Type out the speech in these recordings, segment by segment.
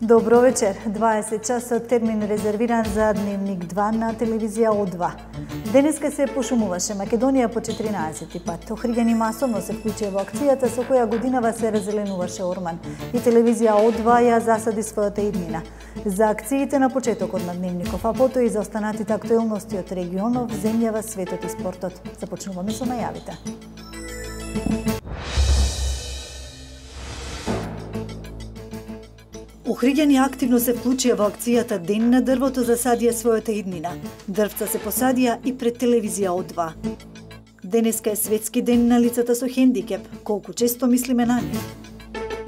Добро вечер. 20 часот термин резервиран за Дневник 2 на телевизија О2. Денеска се пошумуваше Македонија по 14 пат. Охриѓани масовно се вклучија во акцијата со која годинава се разеленуваше Орман. И телевизија О2 ја засади својата иднина. За акциите на почетокот на Дневников, а потоа и за останатите актуелности од регионов, земјава, светот и спортот. Започнуваме со најавите. Охриѓани активно се вклучија во акцијата Ден на дрвото, засадија својата иднина. Дрвца се посадија и пред телевизија О2. Денеска е светски ден на лицата со хендикеп. Колку често мислиме на нив?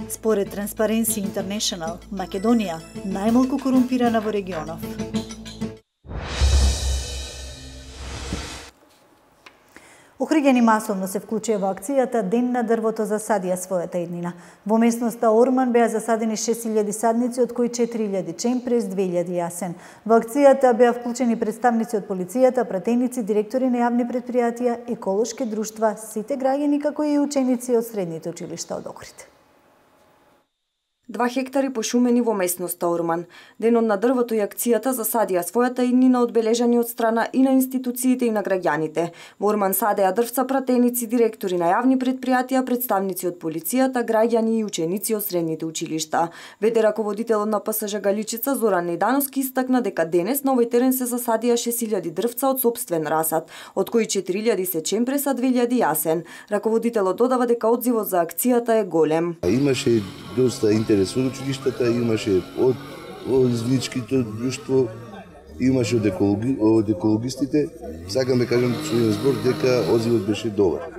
Според Transparency International, Македонија најмалку корумпирана во регионов. Охриѓани масовно се вклучија во акцијата Ден на дрвото, засадија својата иднина. Во местноста Орман беа засадени 6000 садници, од кои 4000 чемпрес, 2000 јасен. Во акцијата беа вклучени представници од полицијата, пратеници, директори на јавни предпријатија, еколошки друштва, сите граѓани како и ученици од средните училишта од Охрид. 2 хектари пошумени во местноста Орман. Денот на дрвото и акцијата засадија својата иднина, одбележани од страна и на институциите и на граѓаните. Во Орман садеа дрвца пратеници, директори на јавни предпријатија, представници од полицијата, граѓани и ученици од средните училишта. ВД раководителот на ПСЖ Галичица Зоран Недановски истакна дека денес на овој терен се засадија 6000 дрвца од сопствен расад, од кои 4000 се чемпреса, 2000 јасен. Раководителот додава дека одзивот за акцијата е голем. Имаше доста интерес од училиштата, имаше од извичките друштво, имаше од екологистите. Сакаме кажам со еден збор дека одзивот беше добар.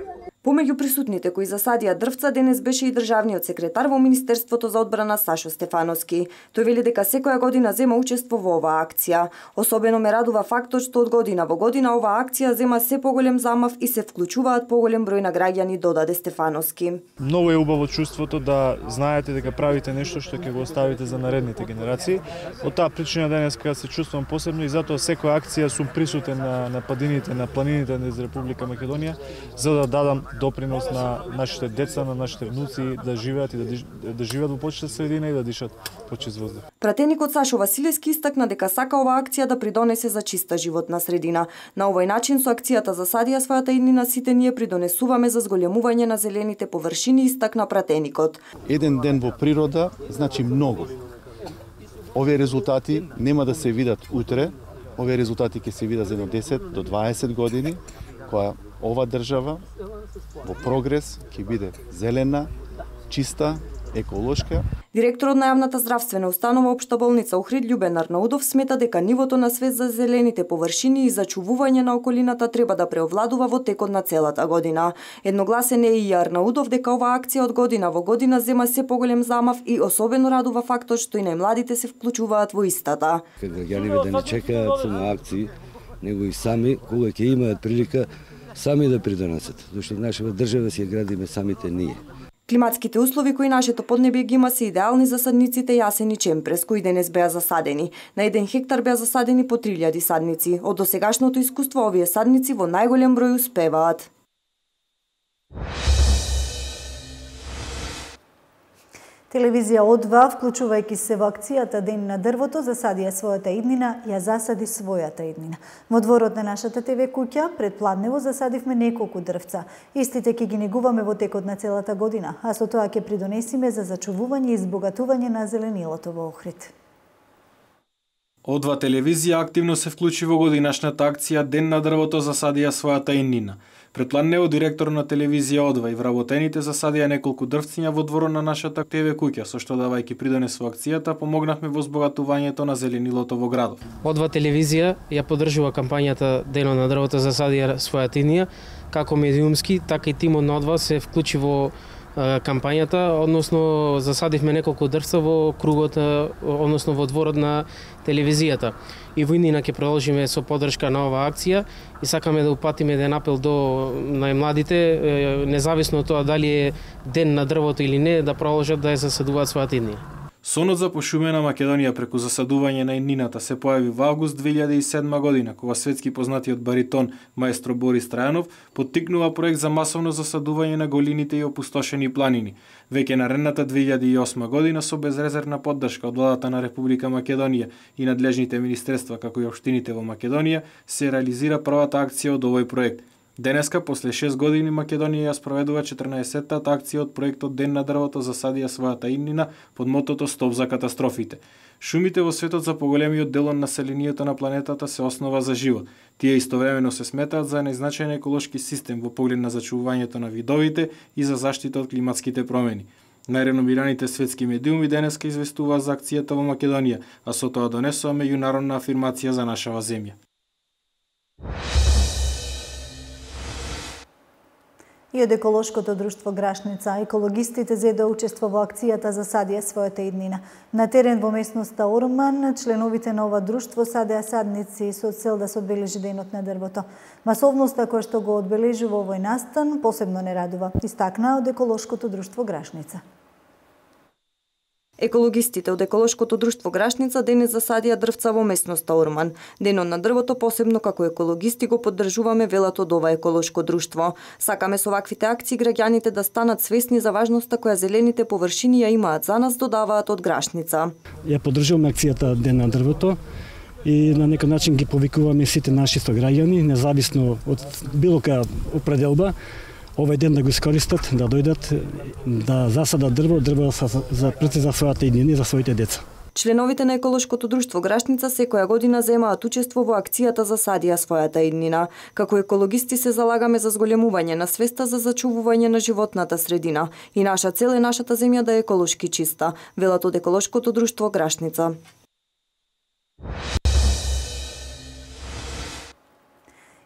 Помеѓу присутните кои засадија дрвца денес беше и државниот секретар во Министерството за одбрана Сашо Стефановски. Тој вели дека секоја година зема учество во оваа акција. Особено ме радува фактот што од година во година оваа акција зема се поголем замав и се вклучуваат поголем број на граѓани, додаде Стефановски. Многу е убаво чувството да знаете дека правите нешто што ќе го оставите за наредните генерации. Од таа причина денеска се чувствувам посебно и затоа секоја акција сум присутен на падините, на планините низ Република Македонија, за да дадам допринос на нашите деца, на нашите внуци да живеат и да живеат во почиста средина и да дишат почист воздух. Пратеникот Сашо Василевски истакна дека сака оваа акција да придонесе за чиста животна средина. На овој начин со акцијата засадија својата иднина сите ние придонесуваме за зголемување на зелените површини, истакна пратеникот. Еден ден во природа значи многу. Овие резултати нема да се видат утре, овие резултати ќе се видат за 10 до 20 години, која ова држава во прогрес ќе биде зелена, чиста, еколошка. Директорот на јавната здравствена установа Општа болница Охрид Љубен Арнаудов смета дека нивото на свест за зелените површини и зачувување на околината треба да преовладува во текот на целата година. Едногласен е и Арнаудов дека оваа акција од година во година зема се поголем замав и особено радува фактот што и најмладите се вклучуваат во истата. Граѓаните да не чекаат само акции, него и сами кога ќе имаат прилика сами да придонесат, зашто нашава држава си ја градиме самите ние. Климатските услови кои нашето поднебје ги има се идеални за садниците јасен и чемпрес, кои денес беа засадени. На 1 хектар беа засадени по 3000 садници. Од досегашното искуство овие садници во најголем број успеваат. Телевизија О2, вклучувајќи се во акцијата Ден на дрвото, засадија својата иднина, ја засади својата иднина. Во дворот на нашата ТВ куќа, пред Пладнево, засадивме неколку дрвца. Истите ќе ги негуваме во текот на целата година, а со тоа ќе придонесиме за зачувување и избогатување на зеленилото во Охрид. О2 телевизија активно се вклучи во годинашната акција Ден на дрвото, засадија својата иднина. Пред Пладнево, директор на телевизија О2 и вработените засадија неколку дрвциња во дворот на нашата ТВ куќа, со што давајќи придонес во акцијата, помогнавме во збогатувањето на зеленилото во градот. О2 телевизија ја поддржува кампањата Денот на дрвото, засадија својата иднина, како медиумски, така и тимот на О2 се вклучи во кампањата, односно засадивме неколку дрвца во кругот, односно во дворот на телевизијата. И во иднина ќе продолжиме со поддршка на оваа акција и сакаме да упатиме еден апел до најмладите, независно од тоа дали е Ден на дрвото или не, да продолжат да ја засадуваат својата иднина. Сонот за пошумена Македонија преку засадување на иднината се појави во август 2007 година, кога светски познатиот баритон маестро Борис Трајанов поттикнува проект за масовно засадување на голините и опустошени планини. Веќе наредната 2008 година со безрезервна поддршка од владата на Република Македонија и надлежните министерства како и општините во Македонија се реализира првата акција од овој проект. Денеска, после 6 години, Македонија ја спроведува 14-тата акција од проектот Ден на дрвото засадија својата иднина под мотото Стоп за катастрофите. Шумите во светот за поголемиот дел од населението на планетата се основа за живот. Тие истовремено се сметаат за најзначајен еколошки систем во поглед на зачувувањето на видовите и за заштита од климатските промени. Најреномираните светски медиуми денеска известуваа за акцијата во Македонија, а со тоа донесува меѓународна афирмација за нашава земја. И од еколошкото друштво Грашница, екологистите зеде учество во акцијата засадија својата иднина. На терен во местноста Орман, членовите на ова друштво садеа садници со цел да се одбележи денот на дрвото. Масовноста која што го одбележува овој настан посебно не радува, истакнаа од еколошкото друштво Грашница. Екологистите од еколошкото друштво Грашница денес засадија дрвца во местноста Орман. Денот на дрвото посебно како екологисти го поддржуваме, велат од ова еколошко друштво. Сакаме со ваквите акции граѓаните да станат свесни за важноста која зелените површини ја имаат за нас, додаваат од Грашница. Ја поддржуваме акцијата Ден на дрвото и на некој начин ги повикуваме сите наши сограѓани, независно од било која определба, овој ден да го искористат, да дојдат, да засадат дрво за својата иднина и за своите деца. Членовите на еколошкото друштво Грашница секоја година земаат учество во акцијата засадија својата иднина. Како екологисти се залагаме за зголемување на свеста за зачувување на животната средина и наша цел е нашата земја да е еколошки чиста, велат од еколошкото друштво Грашница.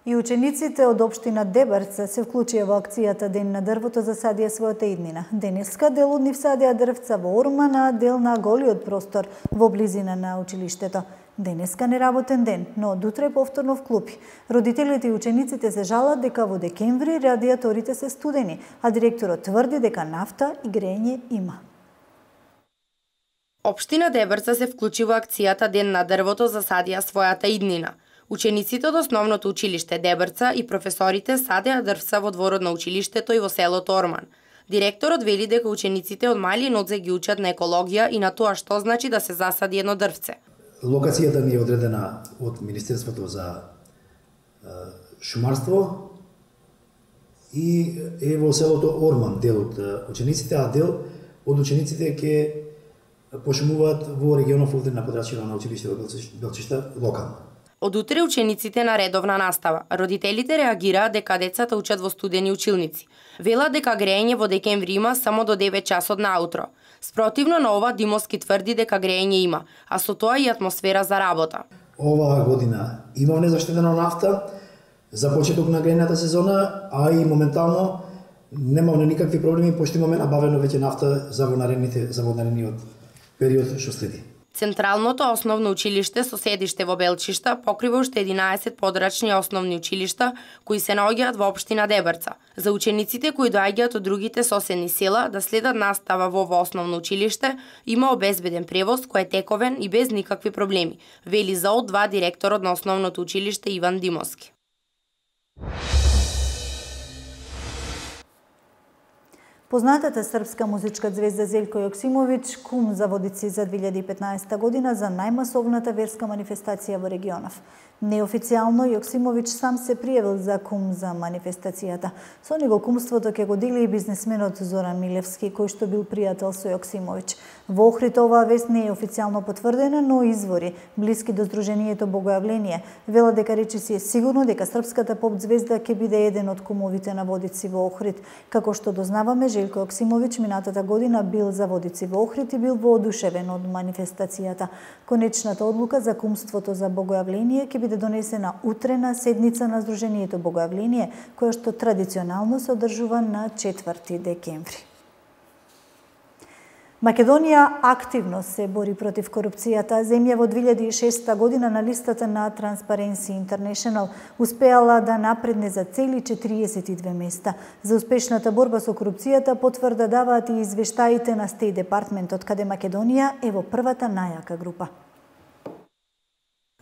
И учениците од општина Дебарца се вклучија во акцијата Ден на дрвото засадија својата иднина. Денеска дел од нив садија дрвца во Орман, а дел на голиот простор во близина на училиштето. Денеска неработен ден, но од утре повторно вклупи. Родителите и учениците се жалат дека во декември радиаторите се студени, а директорот тврди дека нафта и грејење има. Општина Дебарца се вклучи во акцијата Ден на дрвото засадија својата иднина. Учениците од основното училиште Дебарца и професорите садеа дрвца во дворот на училиштето и во селото Орман. Директорот вели дека учениците од мали нозе ги учат на екологија и на тоа што значи да се засади едно дрвце. Локацијата ни е одредена од Министерството за шумарство и е во селото Орман дел од учениците, а дел од учениците ќе пошумуваат во регионов овде на подрачјето на училиште во Белчишта локално. Од утре учениците на редовна настава. Родителите реагираат дека децата учат во студени училници. Велат дека грејење во декември има само до 9 часот наутро. Спротивно на ова Димовски тврди дека грејење има, а со тоа и атмосфера за работа. Оваа година има незаштедена нафта за почеток на грејната сезона, а и моментално немаме никакви проблеми, пошто имаме набавено веќе нафта за наредниот период што следи. Централното основно училиште со седиште во Белчишта покрива уште 11 подрачни основни училишта кои се наоѓаат во општина Дебарца. За учениците кои доаѓаат од другите соседни села да следат настава во ова основно училиште има обезбеден превоз кој е тековен и без никакви проблеми, вели за ОД2 директорот на основното училиште Иван Димовски. Познатата српска музичка звезда Зељко Јоксимовиќ кум за Водици за 2015 година за најмасовната верска манифестација во регионов. Неофицијално Јоксимовиќ сам се пријавил за кум за манифестацијата. Со него кумството ќе го дели и бизнисменот Зоран Милевски, кој што бил пријател со Јоксимовиќ. Во Охрид оваа вест не е официјално потврдена, но извори блиски до Сдруженијето Богојавление велат дека речиси е сигурно дека српската поп звезда ќе биде еден од кумовите на Водици во Охрид. Како што дознаваме, Желко Јоксимовиќ минатата година бил за Водици во Охрид и бил воодушевен од манифестацијата. Конечната одлука за кумството за Богојавление ќе биде донесена утре на седница на Сдруженијето Богојавление, која што традиционално се одржува на 4 декември. Македонија активно се бори против корупцијата. Земја во 2006 година на листата на Transparency International успеала да напредне за цели 42 места. За успешната борба со корупцијата потврда даваат и извештаите на State Department, од каде Македонија е во првата најака група.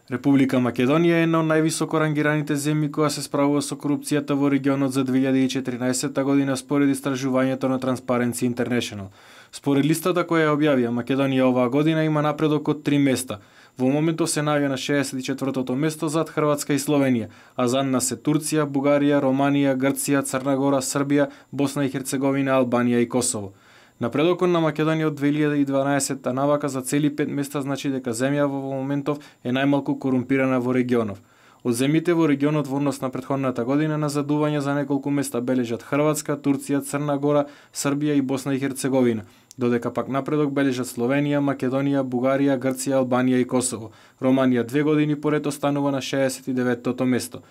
Република Македонија е една од највисоко рангираните земји која се справува со корупцијата во регионот за 2014 година според истражувањето на Transparency International. Според листата која ја објавија, Македонија оваа година има напредок од 3 места. Во моментов се наоѓа на 64-тото место зад Хрватска и Словенија, а за нас се Турција, Бугарија, Романија, Грција, Црна Гора, Србија, Босна и Херцеговина, Албанија и Косово. Напредокот на Македонија од 2012 навака за цели 5 места значи дека земја во моментов е најмалку корумпирана во регионов. Од земјите во регионот во однос на претходната година назадување за неколку места бележат Хрватска, Турција, Црна Гора, Србија и Босна и Херцеговина, додека пак напредок бележат Словенија, Македонија, Бугарија, Грција, Албанија и Косово. Романија 2 години поред останува на 69-тото место.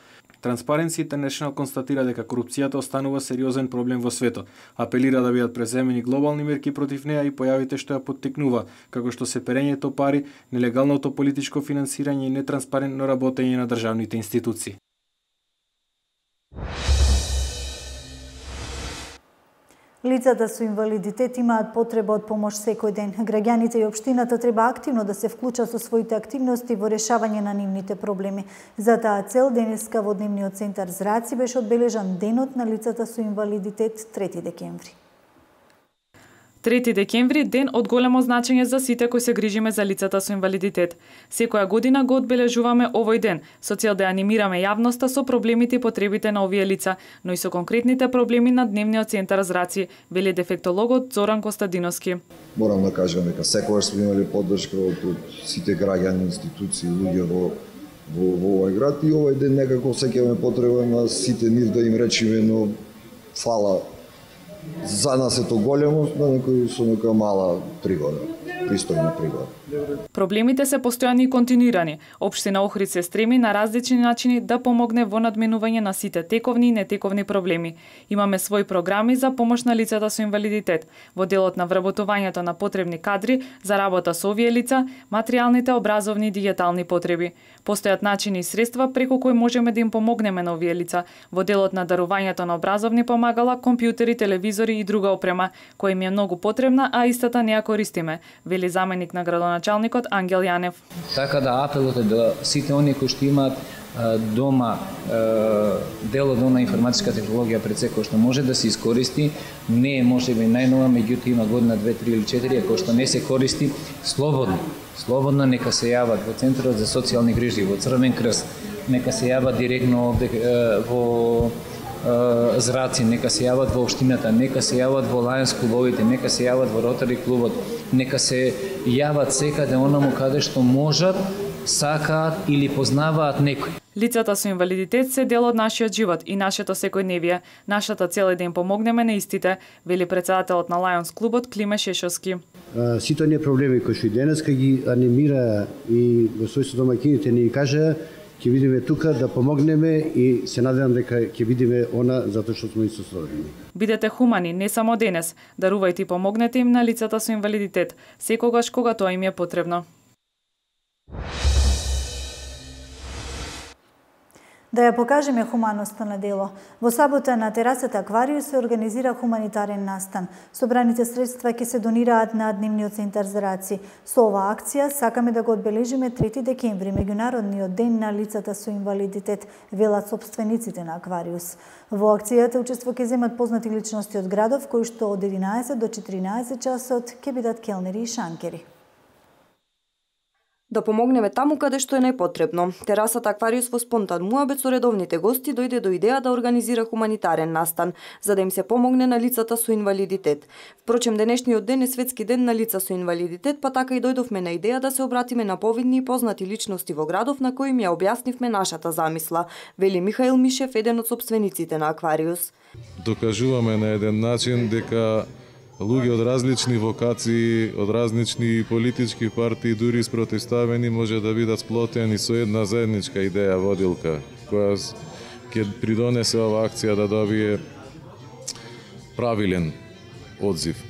Transparency International констатира дека корупцијата останува сериозен проблем во светот, апелира да бидат преземени глобални мерки против неа и појавите што ја поттикнува, како што се перењето пари, нелегалното политичко финансирање и нетранспарентно работење на државните институции. Лицата со инвалидитет имаат потреба од помош секој ден. Граѓаните и општината треба активно да се вклучат со своите активности во решавање на нивните проблеми. За таа цел денеска во Дневниот центар Зраци беше одбележан Денот на лицата со инвалидитет 3 декември. 3 декември – ден од големо значење за сите кои се грижиме за лицата со инвалидитет. Секоја година го одбележуваме овој ден, со цел да анимираме јавноста со проблемите и потребите на овие лица, но и со конкретните проблеми на Дневниот центар Зраци, вели дефектологот Зоран Костадиновски. Морам да кажам дека секогаш сме имали поддршка од сите граѓани, институции, луѓе во овој град и овој ден некако сеќаваме потреба на сите нив да им речиме, но фала за нас е то големо, на некој со нека мала пригода, пристојна пригода. Проблемите се постојани и континуирани. Општина Охрид се стреми на различни начини да помогне во надменување на сите тековни и нетековни проблеми. Имаме своји програми за помош на лицата со инвалидитет, во делот на вработувањето на потребни кадри за работа со овие лица, материјалните, образовни и дигитални потреби. Постојат начини и средства преку кои можеме да им помогнеме на овие лица, во делот на дарувањето на образовни помагала, компјутери, телевизори и друга опрема, која им е многу потребна, а истата не ја користиме, вели заменик на градоначалникот Ангел Јанев. Така да апелот е до сите оние кои што имаат дома дел од она информатичка технологија пред се кој што може да се искористи, не е можеби најнова, меѓутоа има година 2, 3 или 4 кој што не се користи, слободно нека се јават во Центарот за социјални грижи, во Црвен крст, нека се јават директно во Зраци, нека се јават во општината, нека се јават во Лајонс клубовите, нека се јават во Ротари клубот, нека се јават секаде онаму каде што можат, сакаат или познаваат некој. Лицата со инвалидитет се дел од нашиот живот и нашето секојдневие. Нашата цел е да им помогнеме на истите, вели председателот на Лајонс клубот Климе Шешовски. Сите оние проблеми кои што и денеска ги анимира и во својство домаќините ни кажа, ќе видиме тука да помогнеме и се надевам дека ќе видиме она затоа што сме истосодни. Бидете хумани не само денес, дарувајте и помогнете им на лицата со инвалидитет, секогаш кога тоа им е потребно. Да ја покажеме хуманоста на дело. Во сабота на терасата Аквариус се организира хуманитарен настан. Собраните средства ќе се донираат на Дневниот центар Зраци. Со оваа акција сакаме да го одбележиме 3 декември, меѓународниот ден на лицата со инвалидитет, велат сопствениците на Аквариус. Во акцијата учество ќе земат познати личности од градов, кои што од 11 до 14 часот ќе бидат келнери и шанкери. Да помогнеме таму каде што е најпотребно. Терасата Аквариус во спонтан муабет со редовните гости дојде до идеја да организира хуманитарен настан, за да им се помогне на лицата со инвалидитет. Впрочем, денешниот ден е светски ден на лица со инвалидитет, па така и дојдовме на идеја да се обратиме на повидни и познати личности во градов на кои им ја објаснивме нашата замисла, вели Михаил Мишев, еден од сопствениците на Аквариус. Докажуваме на еден начин дека луѓе од различни вокации, од различни политички партии, дури спротивставени, може да бидат сплотени со една заедничка идеја водилка, која ќе придонесе оваа акција да добие правилен одзив.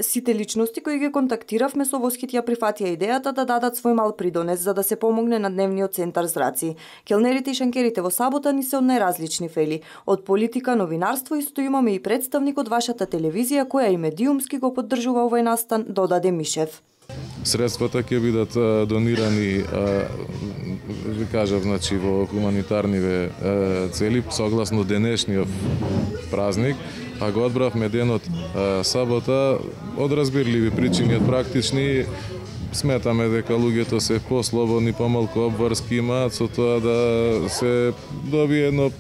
Сите личности кои ги контактиравме со восхит ја прифатија идејата да дадат свој мал придонес за да се помогне на дневниот центар Зраци. Келнерите и шанкерите во сабота ни се од најразлични фели, од политика, новинарство, исто имаме и представник од вашата телевизија која и медиумски го поддржува овој настан, додаде Мишев. Средствата ќе бидат донирани, ви кажав, значи во хуманитарниве цели согласно денешниот празник, а го одбравме денот сабота од разбирливи причини, од практични. Сметаме дека луѓето се послободни, помалку обврски имаат со тоа да се добие едно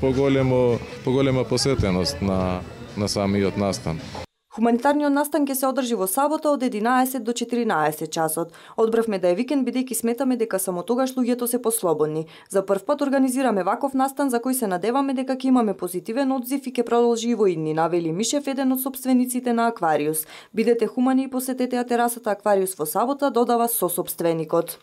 поголема посетеност на самиот настан. Хуманитарниот настан ќе се одржи во сабота од 11 до 14 часот. Одбравме да е викенд бидејќи сметаме дека само тогаш луѓето се послободни. За прв пат организираме ваков настан за кој се надеваме дека ќе имаме позитивен одзив и ќе продолжи и во идни, навели Мишев, еден од сопствениците на Аквариус. Бидете хумани и посетете ја терасата Аквариус во сабота, додава сосопственикот.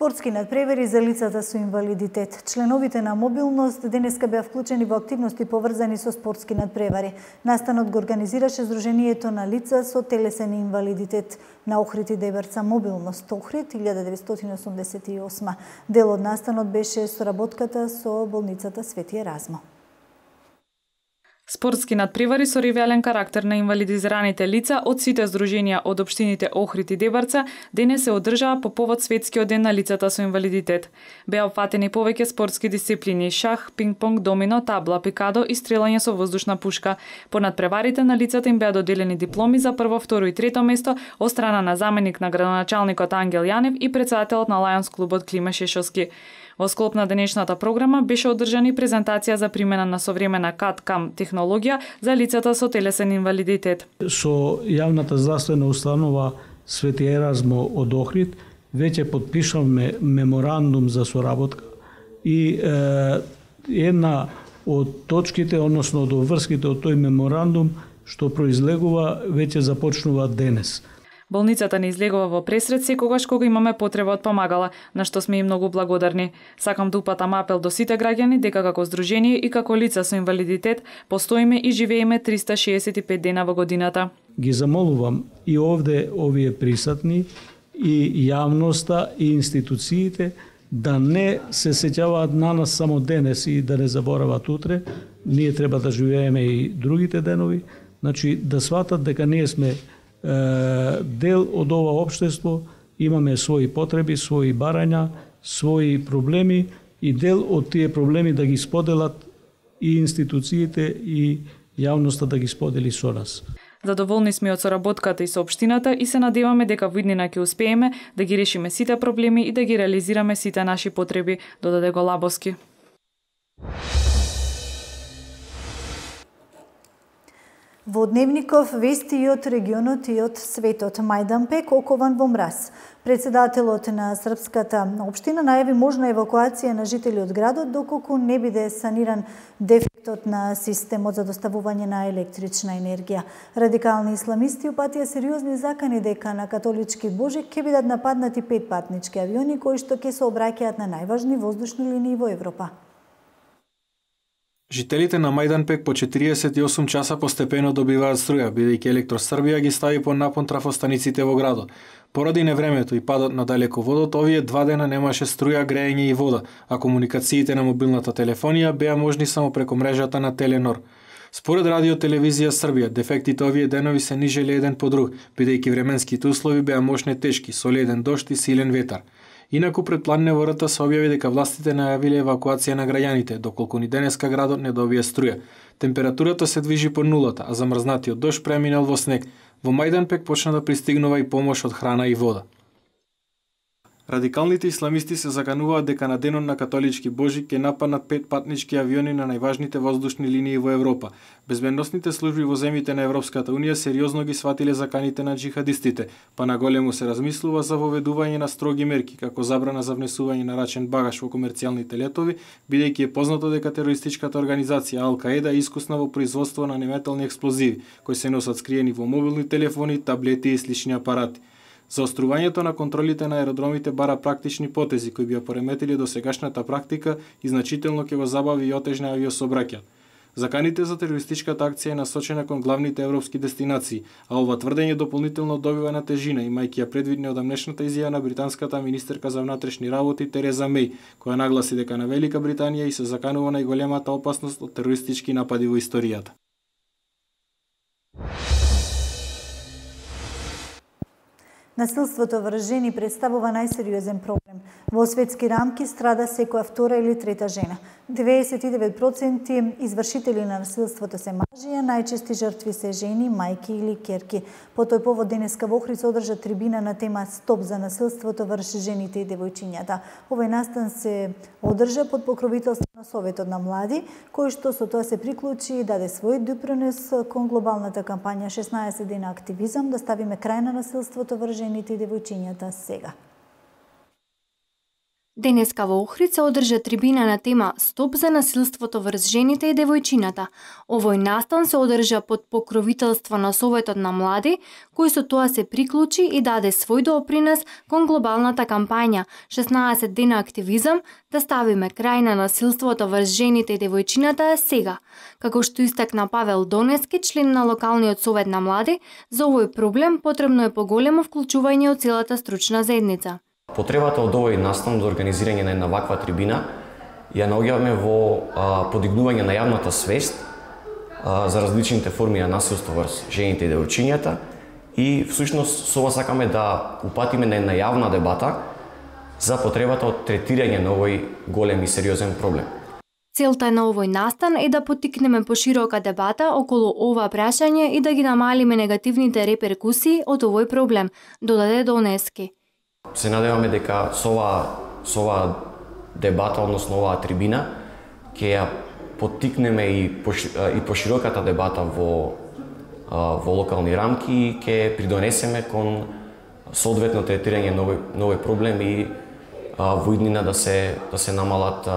Спортски надпревари за лицата со инвалидитет. Членовите на Мобилност денеска беа вклучени во активности поврзани со спортски надпревари. Настанот го организираше Сдруженијето на лица со телесен инвалидитет на Охрид и Дебрца Мобилност Охрид 1988. Дел од настанот беше соработката со болницата Свети Еразмо. Спортски надпревари со ривелен карактер на инвалидизираните лица од сите здруженија од општините Охрид и Дебрца денес се одржаа по повод Светскиот ден на лицата со инвалидитет. Беа опфатени повеќе спортски дисциплини: шах, пинг-понг, домино, табла, пикадо и стрелање со воздушна пушка. По надпреварите на лицата им беа доделени дипломи за прво, второ и трето место од страна на заменик на градоначалникот Ангел Јанев и претседателот на Лајонс клубот Климе Шешовски. Во склоп на денешната програма беше одржана презентација за примена на современа CAD/CAM технологија за лицата со телесен инвалидитет. Со јавната здравствена установа Свети Еразмо од Охрид веќе подпишавме меморандум за соработка и една од точките, односно од обврските од тој меморандум што произлегува веќе започнува денес. Болницата не излегува во пресред секогаш кога имаме потреба од помагала, на што сме и многу благодарни. Сакам да упатам апел до сите граѓани дека како здружение и како лица со инвалидитет постоиме и живееме 365 дена во годината. Ги замолувам и овде овие присутни и јавноста и институциите да не се сеќаваат на нас само денес и да не заборават утре. Ние треба да живееме и другите денови, значи да сватат дека ние сме дел од ова општество, имаме своји потреби, своји барања, своји проблеми и дел од тие проблеми да ги споделат и институциите и јавноста да ги сподели со нас. Задоволни сме од соработката и со општината и се надеваме дека во иднина ќе успееме да ги решиме сите проблеми и да ги реализираме сите наши потреби, додаде Голабовски. Во Дневников вести и од регионот и од светот. Мајданпек окован во мраз. Председателот на српската општина најави можна евакуација на жители од градот доколку не биде саниран дефектот на системот за доставување на електрична енергија. Радикални исламисти упатија сериозни закани дека на католички Божик ќе бидат нападнати 5 патнички авиони кои што ќе се обраќаат на најважни воздушни линии во Европа. Жителите на Мајданпек по 48 часа постепено добиваат струја, бидејќи Електросрбија ги стави под напон трафостаниците во градот. Поради невремето и падот на далеководот, овие 2 дена немаше струја, грејење и вода, а комуникациите на мобилната телефонија беа можни само преку мрежата на Теленор. Според Радио Телевизија Србија, дефектите овие денови се нижели еден по друг, бидејќи временските услови беа мощни тешки, со леден дожд и силен ветар. Инаку пред план НВР се објави дека властите најавиле евакуација на граѓаните, доколку ни денеска градот не добија струја. Температурата се движи по нулата, а замрзнатиот дожд преминал во снег. Во Мајданпек почна да пристигнува и помош од храна и вода. Радикалните исламисти се закануваат дека на денот на католички Божик ќе нападнат 5 патнички авиони на најважните воздушни линии во Европа. Безбедносните служби во земјите на Европската Унија сериозно ги сватиле заканите на джихадистите, па наголему се размислува за воведување на строги мерки, како забрана за внесување на рачен багаж во комерцијалните летови, бидејќи е познато дека терористичката организација Ал-Каеда е искусна во производство на неметални експлозиви, кои се носат скриени во мобилни телефони, таблети и слични апарати. Заострувањето на контролите на аеродромите бара практични потези кои би ја пореметили досегашната практика и значително ќе го забави и отежне авиосообраќајот. Заканите за терористичката акција е насочена кон главните европски дестинации, а ова тврдење дополнително добива на тежина, имајќи ја предвидни одамнешната изјава на британската министерка за внатрешни работи Тереза Меј, која нагласи дека на Велика Британија и се заканува најголемата опасност од терористички напади во историјата. Насилството врз жени представува најсериозен проблем. Во светски рамки страда секоја втора или трета жена. 99% извршители на насилството се мажи, а најчести жртви се жени, мајки или ќерки. По тој повод денеска во Охрид се одржа трибина на тема Стоп за насилството врз жените и девојчињата. Овој настан се одржа под покровителство на Советот на млади, кој што со тоа се приклучи и даде свој допринос кон глобалната кампања 16 дена активизам да ставиме крај на насилството врз жените и девојчињата сега. Денеска во Охрид се одржа трибина на тема Стоп за насилството врз жените и девојчината. Овој настан се одржа под покровителство на Советот на млади, кој со тоа се приклучи и даде свој допринос кон глобалната кампања 16 дена активизам да ставиме крај на насилството врз жените и девојчината сега. Како што истакна Павел Донески, член на локалниот совет на млади, за овој проблем потребно е поголемо вклучување од целата стручна заедница. Потребата од овој настан за организирање на една ваква трибина ја наоѓаме во подигнување на јавната свест за различните форми на насилство врз жените и девојчињата и всушност со ова сакаме да упатиме на една јавна дебата за потребата од третирање на овој голем и сериозен проблем. Целта на овој настан е да поттикнеме поширока дебата околу ова прашање и да ги намалиме негативните реперкусии од овој проблем, додаде Донески. Се надеваме дека со ова дебата, односно оваа трибина, ќе ја поттикнеме и пошироката дебата во локални рамки и ќе придонесеме кон соодветно третирање на овој проблем и во иднина да се намалат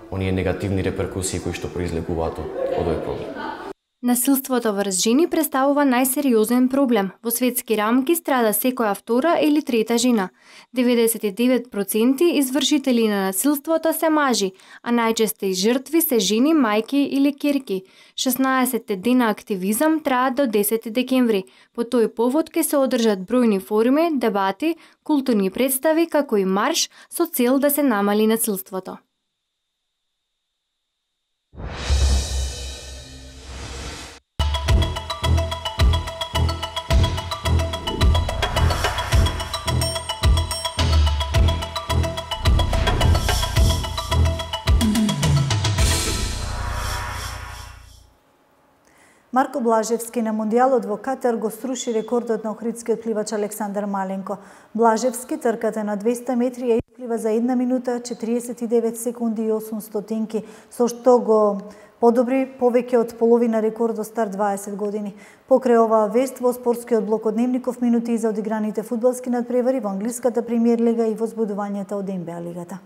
оние негативни реперкусии кои што произлегуваат од овој проблем. Насилството врз жени представува најсериозен проблем. Во светски рамки страда секоја втора или трета жена. 99% извршители на насилството се мажи, а најчести жртви се жени, мајки или ќерки. 16 дена активизам траат до 10 декември. По тој повод ќе се одржат бројни форуми, дебати, културни представи, како и марш со цел да се намали насилството. Марко Блажевски на Мондијалот во Катар го струши рекордот на охридскиот пливач Александар Маленко. Блажевски трката на 200 метри ја исплива за 1 минута 49 секунди и 8 стотинки, со што го подобри повеќе од половина рекордот стар 20 години. Покрај оваа вест во спортскиот блок од Дневников минути за одиграните фудбалски надпревари во англиската премиер лига и возбудувањата од НБА лигата.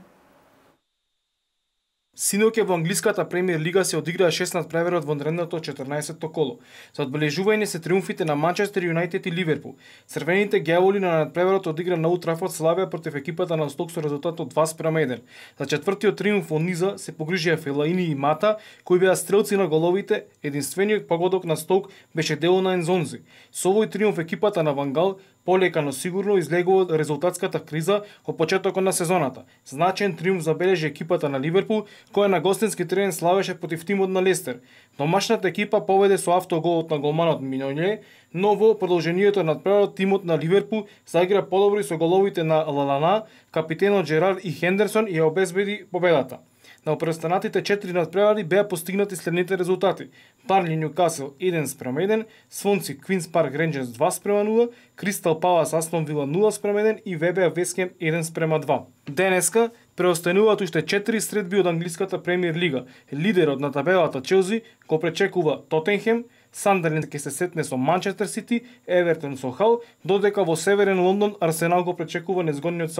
Синоќа во англиската премиер лига се одиграа 6 надпреварот во наредното 14-то коло. За одбележување се триумфите на Манчестер Юнајтед и Ливерпул. Црвените ѓаволи на надпреварот одигра на Олд Трафорд славија против екипата на Сток со резултат од 2:1. За четвртиот триумф во низа се погрижија Фелаини и Мата, кои беа стрелци на головите. Единствениот погодок на Сток беше дело на Ензонзи. Со овој триумф екипата на Ван Гал полека, но сигурно излегува од резултатската криза во почетокот на сезоната. Значаен триумф забележи екипата на Ливерпул, која на гостински терен славеше против тимот на Лестер. Домашната екипа поведе со автоголот на голманот Миноње, но во продолжението на надпреварот тимот на Ливерпул заигра подобри со головите на Лалана, капитенот Джерард и Хендерсон и ја обезбеди победата. На преостанатите 4 надпревари беа постигнати следните резултати: Барнли Ньюкасл 1:1, Свонси Квинс Парк Рейнџерс 2:0, Кристал Палас Астон Вила 0:1 и ВБА Вест Хем 1:2. Денеска преостануваат уште 4 средби од англиската премиер лига. Лидерот на табелата Челси го пречекува Тотенхем, Сандерленд ќе се сетне со Манчестер Сити, Евертон со Хал, додека во Северен Лондон Арсенал го пречекува незгодниот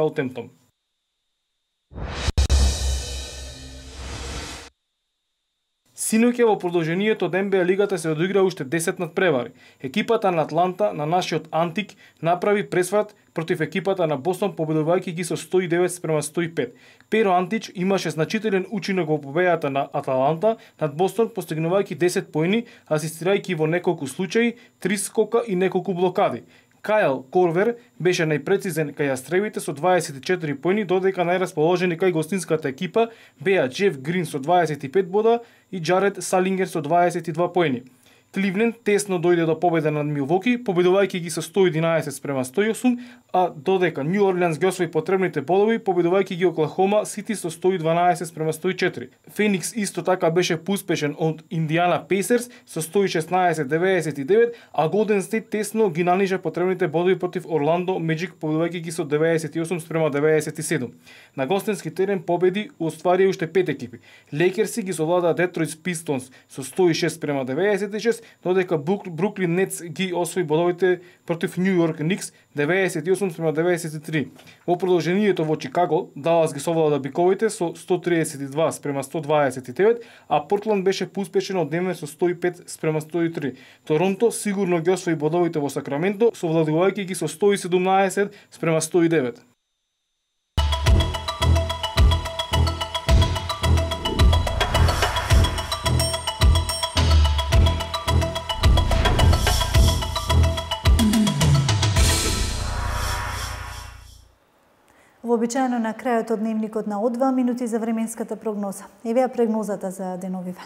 Синоќа во продолжението од НБА лигата се одигра уште 10 надпревари. Екипата на Атланта, на нашиот Антик, направи пресврат против екипата на Бостон, победувајќи ги со 109-105. Перо Антич имаше значителен учинок во победата на Аталанта над Бостон, постигнувајќи 10 поени, асистирајќи во неколку случаи, 3 скока и неколку блокади. Кајл Корвер беше најпрецизен кај јастребите со 24 поени, додека најрасположени кај гостинската екипа беа Джеф Грин со 25 бода и Джаред Салингер со 22 поени. Кливленд тесно дојде до победа над Милвоки, победувајќи ги со 111-108, а додека Нью Орлеанс ги освои потребните бодови, победувајќи ги Оклахома Сити со 112-104. Феникс исто така беше поуспешен од Индиана Пейсерс со 116-99, а Голден Стейт тесно ги нанижа потребните бодови против Орландо Меджик, победувајќи ги со 98-97. На гостински терен победи остварија уште 5 екипи. Лейкерси ги совладаа Детройт Пистонс со 106-96, додека Бруклин Нетс ги освои бодовите против Нью Йорк Никс 98-93. Во продолжението во Чикаго, Далас ги совлада биковите со 132-129, а Портланд беше поуспешен од Денвер со 105-103. Торонто сигурно ги освои бодовите во Сакраменто, совладувајќи ги со 117-109. Вообичаено на крајот од дневникот на О2 минути за временската прогноза. Еве прогнозата за деновиве.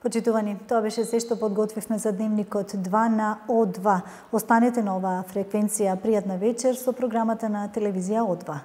Почитувани, тоа беше се што подготвивме за дневникот 2 на О2. Останете на оваа фреквенција. Пријатна вечер со програмата на телевизија О2.